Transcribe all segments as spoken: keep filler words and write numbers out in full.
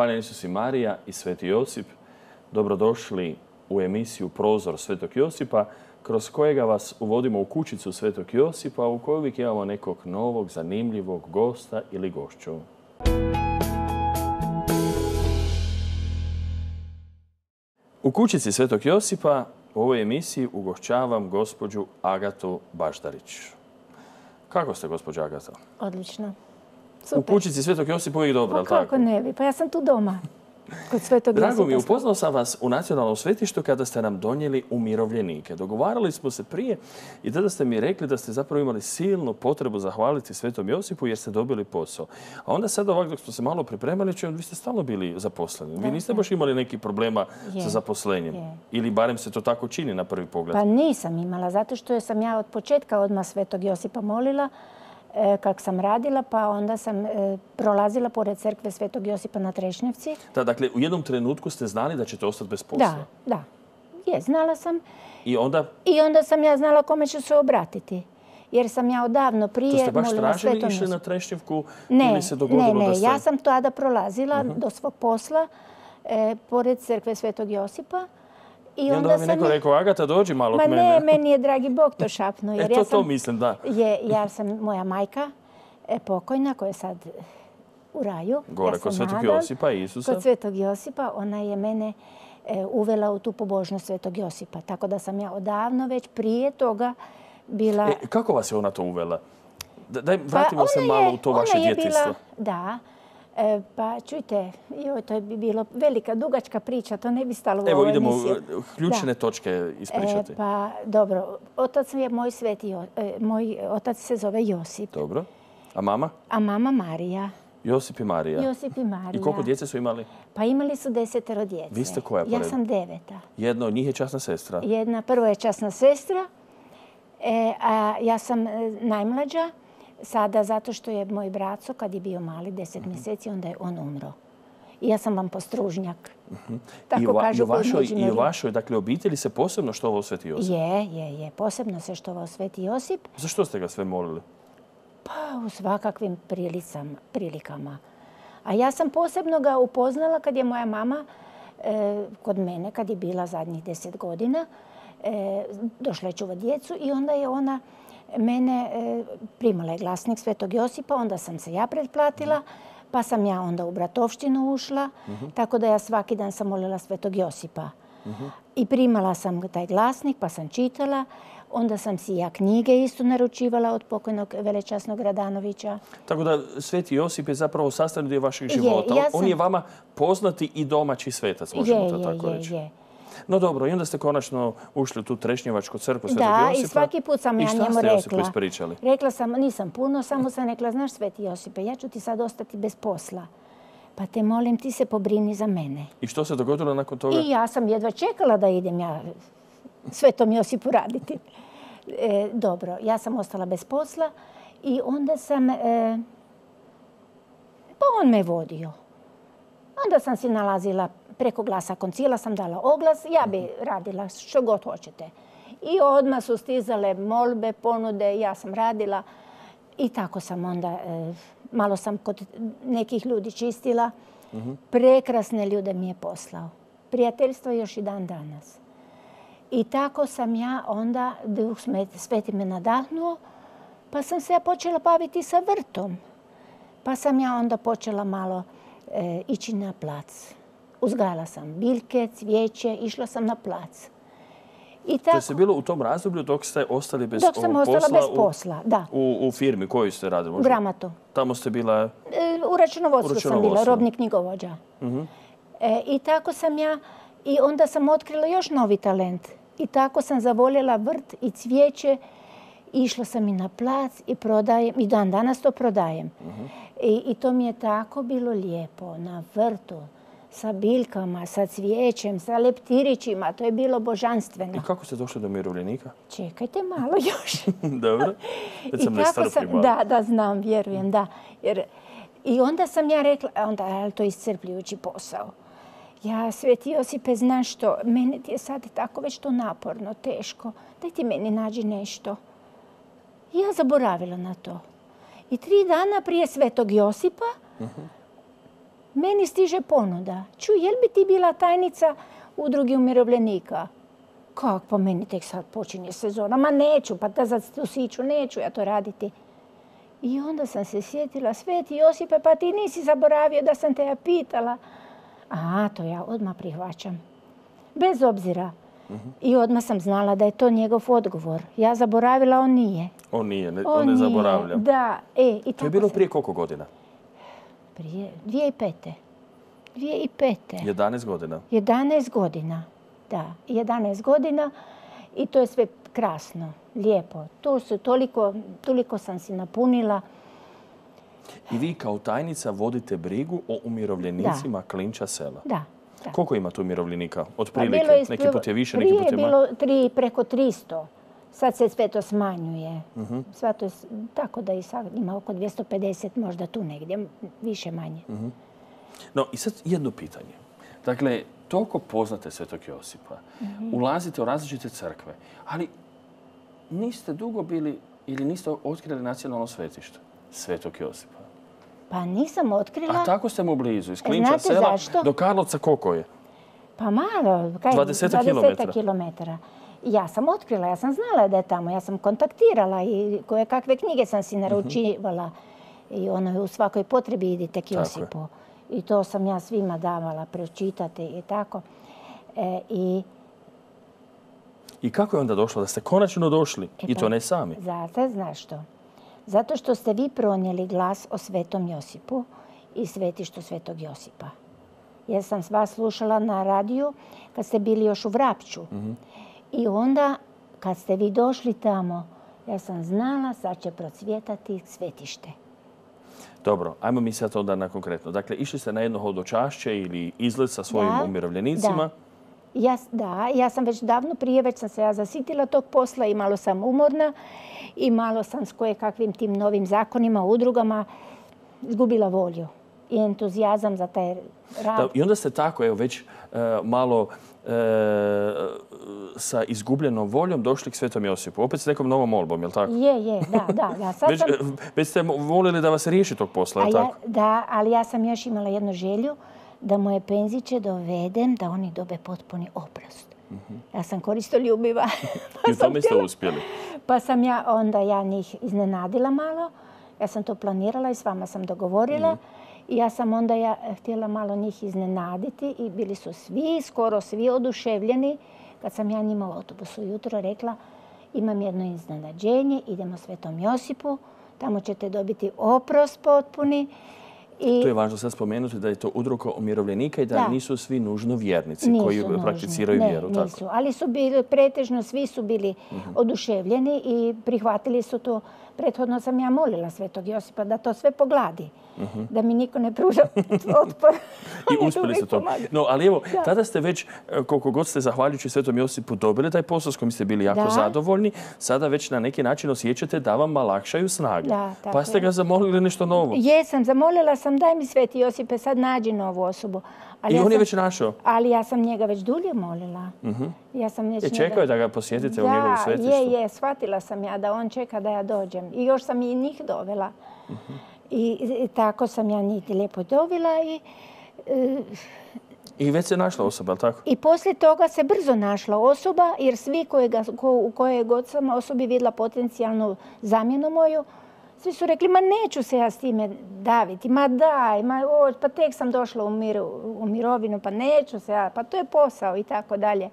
Hvala Isus i Marija i Sveti Josip. Dobrodošli u emisiju Prozor Svetog Josipa, kroz kojega vas uvodimo u kućicu Svetog Josipa, u kojoj uvijek imamo nekog novog, zanimljivog gosta ili gošću. U kućici Svetog Josipa u ovoj emisiji ugošćavam gospođu Agatu Baždarić. Kako ste, gospođa Agata? Odlično. Super. U kućici Svetog Josipa uvijek dobro, ali tako? Kako ne bi? Pa ja sam tu doma. Kod Svetog Josipa. Drago mi je, upoznao sam vas u nacionalnom svetištu kada ste nam donijeli umirovljenike. Dogovarali smo se prije i tada ste mi rekli da ste zapravo imali silnu potrebu zahvaliti Svetom Josipu jer ste dobili posao. A onda sad ovako dok smo se malo pripremali, čujem, vi ste stalno bili zaposleni. Vi niste baš imali nekih problema sa zaposlenjem. Ili barem se to tako čini na prvi pogled. Pa nisam imala, zato što sam ja od početka odmah Svetog Josipa molila kak sam radila, pa onda sam prolazila pored crkve Svetog Josipa na Trešnjevci. Da, dakle, u jednom trenutku ste znali da ćete ostati bez posla? Da, da. Je, znala sam. I onda? I onda sam ja znala kome ću se obratiti. Jer sam ja odavno prije molila Svetom Josipu. To ste baš tražili išli na Trešnjevku ili se dogodilo da ste... Ne, ne, ja sam tada prolazila do svog posla pored crkve Svetog Josipa. I onda vam je neko rekao, Agata, dođi malo k mene. Ma ne, meni je dragi Bog to šapnuo. E, to to mislim, da. Ja sam, moja majka, pokojna, koja je sad u raju. Gore, kod Svetog Josipa i Isusa. Kod Svetog Josipa, ona je mene uvela u tu pobožnost Svetog Josipa. Tako da sam ja odavno već prije toga bila... Kako vas je ona to uvela? Daj, vratimo se malo u to vaše djetinjstvo. Da. Pa čujte, joj, to bi bilo velika, dugačka priča, to ne bi stalo u ovoj emisiji. Evo idemo ključne točke ispričati. Pa dobro, otac je moj sveti, moj otac se zove Josip. Dobro. A mama? A mama Marija. Josip i Marija. Josip i Marija. I koliko djece su imali? Pa imali su desetero djece. Vi ste koja po redu? Ja sam deveta. Jedna od njih je časna sestra? Jedna, prvo je časna sestra, a ja sam najmlađa. Sada, zato što je moj braco, kad je bio mali, deset mjeseci, onda je on umro. I ja sam vam postružnjak. I u vašoj obitelji se posebno štovao Sveti Josip? Je, je, je. Posebno se štovao Sveti Josip. Zašto ste ga sve molili? Pa u svakakvim prilikama. A ja sam posebno ga upoznala kad je moja mama kod mene, kad je bila zadnjih deset godina, došla je čuvat djecu i onda je ona mene primala je glasnik Svetog Josipa, onda sam se ja pretplatila, pa sam ja onda u bratovštinu ušla, tako da ja svaki dan sam molila Svetog Josipa. I primala sam taj glasnik, pa sam čitala, onda sam si ja knjige isto naručivala od pokojnog velečasnog Radanovića. Tako da Sveti Josip je zapravo sastavni dio vašeg života. On je vama poznati i domaći svetac, možemo to tako reći. Je, je, je. No dobro, i onda ste konačno ušli u tu Trešnjevačku crkvu Svetog Josipa. Da, i svaki put sam ja njemu rekla. I šta ste Josipu ispričali? Rekla sam, nisam puno, samo sam rekla, znaš Sveti Josipe, ja ću ti sad ostati bez posla. Pa te molim, ti se pobrini za mene. I što se dogodilo nakon toga? I ja sam jedva čekala da idem ja Svetom Josipu raditi. Dobro, ja sam ostala bez posla i onda sam... Pa on me vodio. Onda sam si nalazila preko glasa koncila, sam dala oglas, ja bi radila što god hoćete. I odmah su stizale molbe, ponude, ja sam radila i tako sam onda, malo sam kod nekih ljudi čistila. Prekrasne ljude mi je poslao. Prijateljstvo još i dan danas. I tako sam ja onda, Duh Sveti me nadahnuo, pa sam se ja počela baviti sa vrtom. Pa sam ja onda počela malo ići na plac. Uzgajala sam biljke, cvijeće, išla sam na plac. To je bilo u tom razdoblju dok ste ostali bez posla? Dok sam ostala bez posla, da. U firmi koju ste radili? U Gramatu. Tamo ste bila? U računovodstvu sam bila, robni knjigovođa. I tako sam ja, i onda sam otkrila još novi talent. I tako sam zavoljela vrt i cvijeće. Išla sam i na plac i prodajem, i dan danas to prodajem. I to mi je tako bilo lijepo, na vrtu, sa biljkama, sa cvijećem, sa leptirićima. To je bilo božanstveno. I kako ste došli do umirovljenika? Čekajte malo još. Dobro. Već sam nestrpljiv malo. Da, da, znam, vjerujem, da. I onda sam ja rekla, onda je to iscrpljujući posao. Ja, Sveti Josipe, znaš što, meni ti je sad tako već to naporno, teško. Daj ti meni nađi nešto. I ja zaboravila na to. I tri dana prije Svetog Josipa Meni stiže ponuda. Čuj, jel bi ti bila tajnica udruge umirovljenika? Kako? Pa meni tek sad počinje sezona. Ma neću, pa da za tu siću neću ja to raditi. I onda sam se sjetila, Sveti Josipe, pa ti nisi zaboravio da sam te ja pitala. A, to ja odmah prihvaćam. Bez obzira. I odmah sam znala da je to njegov odgovor. Ja zaboravila, on nije. On nije, ne, on ne zaboravlja. Da. E, i to je bilo prije koliko godina? Prije dvije i pete. dvije i pete. jedanaest godina? jedanaest godina, da. jedanaest godina i to je sve krasno, lijepo. To su toliko, toliko sam si napunila. I vi kao tajnica vodite brigu o umirovljenicima da. Klinča sela? Da. Da. Koliko ima tu umirovljenika? Od prilike? Pa neki put je više, neki put je manje? Prije je bilo tri, preko tristo. Sad se sve to smanjuje. Uh-huh. Sve to je, tako da i sad ima oko dvjesto pedeset, možda tu negdje, više manje. Uh-huh. No i sad jedno pitanje. Dakle, toliko poznate Svetog Josipa, uh-huh. ulazite u različite crkve, ali niste dugo bili ili niste otkrili nacionalno svetište Svetog Josipa. Pa nisam otkrila. A tako ste mu blizu, iz Klinča sela do Karlovca koliko je? Pa malo, kaj, dvadeset kilometara. Ja sam otkrila, ja sam znala da je tamo, ja sam kontaktirala i koje kakve knjige sam si naručivala. Uh-huh. I ono, u svakoj potrebi idite k Josipu. I to sam ja svima davala pročitati i tako. E, i... I kako je onda došlo da ste konačno došli? E, I to ne sami? Zato, znaš što? Zato što ste vi pronijeli glas o Svetom Josipu i svetištu Svetog Josipa. Ja sam vas slušala na radiju kad ste bili još u Vrapču. Uh-huh. I onda kad ste vi došli tamo, ja sam znala sad će procvjetati svetište. Dobro, ajmo mi sad onda na konkretno. Dakle, išli ste na jedno hodočašće ili izlet sa svojim da, umirovljenicima? Da. Ja, da, ja sam već davno prije, već sam se ja zasitila tog posla i malo sam umorna i malo sam s koje kakvim tim novim zakonima, udrugama izgubila volju i entuzijazam za taj rad. Da, i onda ste tako, evo, već uh, malo uh, sa izgubljenom voljom došli k Svetom Josipu. Opet s nekom novom molbom, je li tako? Je, je, da, da. da. Sad već, sam... već ste volili da vas riješi tog posla, je li tako? Ja, da, ali ja sam još imala jednu želju da moje penziće dovedem, da oni dobe potpuni oprost. Uh-huh. Ja sam koristoljubiva. I u tome ste uspjeli. Pa sam ja onda ja njih iznenadila malo. Ja sam to planirala i s vama sam dogovorila. Uh-huh. I ja sam onda ja htjela malo njih iznenaditi i bili su svi, skoro svi oduševljeni. Kad sam ja njima u autobusu jutro rekla imam jedno iznenađenje, idemo Svetom Josipu, tamo ćete dobiti oprost potpuni. I... To je važno sad spomenuti da je to udruga umirovljenika i da, da nisu svi nužno vjernici nisu koji nužni. prakticiraju ne, vjeru. Nisu, tako? Ali su bili, pretežno svi su bili uh-huh. oduševljeni i prihvatili su to. Prethodno sam ja molila Svetog Josipa da to sve pogladi. Uh-huh. Da mi niko ne pruža otpor. I uspjeli ste to. No, ali evo, da. tada ste već, koliko god ste zahvaljujući Svetom Josipu dobili taj posao s kojim ste bili jako da. zadovoljni, sada već na neki način osjećate da vam lakšaju snage. Da, pa ste ga zamolili nešto novo. Jesam, zamolila sam daj mi Sveti Josipe, sad nađi novu osobu. Ali I ja on sam, je već našao? Ali ja sam njega već dulje molila. Uh-huh. Ja sam već je čekao njega... je da ga posjetite da, u njegovu svetištu? Je, je, shvatila sam ja da on čeka da ja dođem. I još sam i njih dovela. Uh-huh. I, I tako sam ja njih lijepo dovela i... Uh, I već se našla osoba, ali tako? I poslije toga se brzo našla osoba, jer svi kojega, ko, u koje god sam osobi vidjela potencijalnu zamjenu moju, svi su rekli, ma neću se ja s time daviti, ma daj, ma, o, pa tek sam došla u, miru, u mirovinu, pa neću se ja, pa to je posao i tako dalje.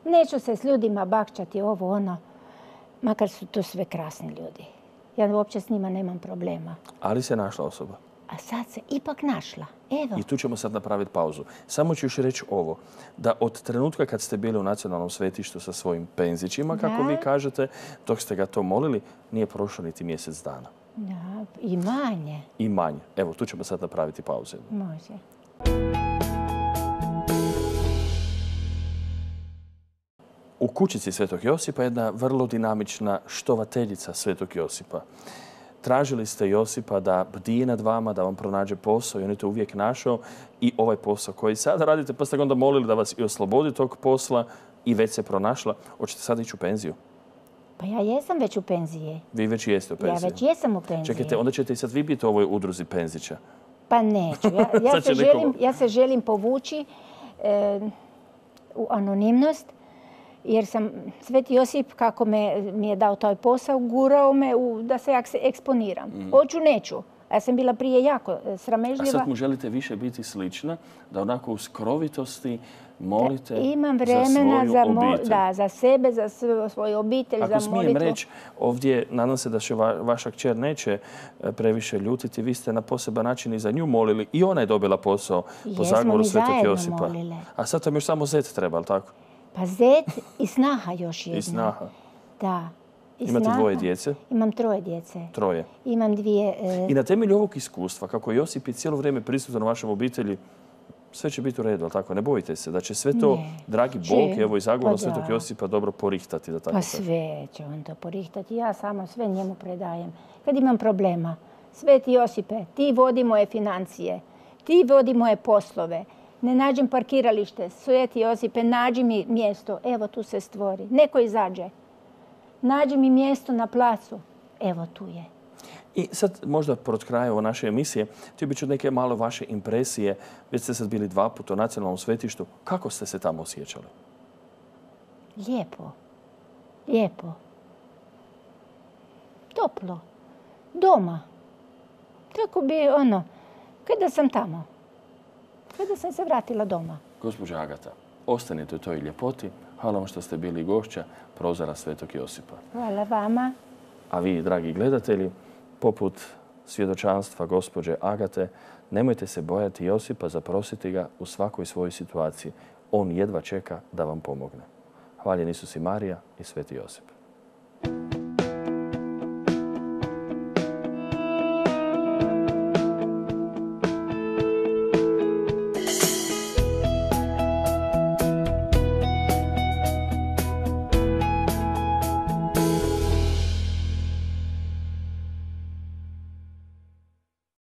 Neću se s ljudima bakćati ovo, ono, makar su to sve krasni ljudi. Ja uopće s njima nemam problema. Ali se našla osoba? A sad se ipak našla. Evo. I tu ćemo sad napraviti pauzu. Samo ću još reći ovo, da od trenutka kad ste bili u nacionalnom svetištu sa svojim penzićima, da. kako vi kažete, dok ste ga to molili, nije prošlo niti mjesec dana. Da, i manje. I manje. Evo, tu ćemo sad napraviti pauzu. Može. U kućici Svetog Josipa jedna vrlo dinamična štovateljica Svetog Josipa. Tražili ste Josipa da bdije nad vama, da vam pronađe posao i on je to uvijek našao. I ovaj posao koji sada radite, pa ste ga onda molili da vas i oslobodi tog posla i već se pronašla. Hoćete sad ići u penziju? Pa ja jesam već u penziji. Vi već jeste u penziji? Ja već jesam u penziji. Čekajte, onda ćete i sad vi biti u ovoj udruzi penzića. Pa neću. Ja, ja, se, želim, ja se želim povući e, u anonimnost, jer sam Sveti Josip, kako me, mi je dao taj posao, gurao me u, da se eksponiram. Mm. Hoću, neću. Ja sam bila prije jako sramežljiva. A sad mu želite više biti slična, da onako u skrovitosti molite da, imam vremena za svoju za obitelj. Da, za sebe, za svoju obitelj, Ako za molitvu. smijem reći, ovdje nadam se da se va, vaša kćer neće previše ljutiti. Vi ste na poseban način i za nju molili i ona je dobila posao po zagovoru Svetog Josipa. Molile. A sad vam još samo zet treba, ali tako? Pa zet i snaha još jedna. I snaha. Da. I Imate snaha. dvoje djece? Imam troje djece. Troje. Imam dvije... E... I na temelju ovog iskustva, kako Josip je cijelo vrijeme prisutan u vašem obitelji, sve će biti u redu, ali tako? Ne bojite se da će sve to, ne. dragi Bog, evo i zagovor pa Svetog Josipa, dobro porihtati. Da tako pa sve će on to porihtati. Ja samo sve njemu predajem. Kad imam problema, Sveti Josipe, ti vodi moje financije, ti vodi moje poslove, ne nađem parkiralište, Sveti Josipe, nađi mi mjesto, evo tu se stvori. Neko izađe. Nađi mi mjesto na placu. Evo tu je. I sad možda pod kraja ove naše emisije, htio bih čuti neke malo vaše impresije. Već ste sad bili dva puta u nacionalnom svetištu. Kako ste se tamo osjećali? Lijepo. Lijepo. Toplo. Doma. Tako bi ono, kada sam tamo. Kada sam se vratila doma. Gospođa Agata, ostanite u toj ljepoti. Hvala vam što ste bili gošća Prozora Svetog Josipa. Hvala vama. A vi, dragi gledatelji, poput svjedočanstva gospođe Agate, nemojte se bojati Josipa, zaprositi ga u svakoj svojoj situaciji. On jedva čeka da vam pomogne. Hvaljen Isus i Marija i Sveti Josip.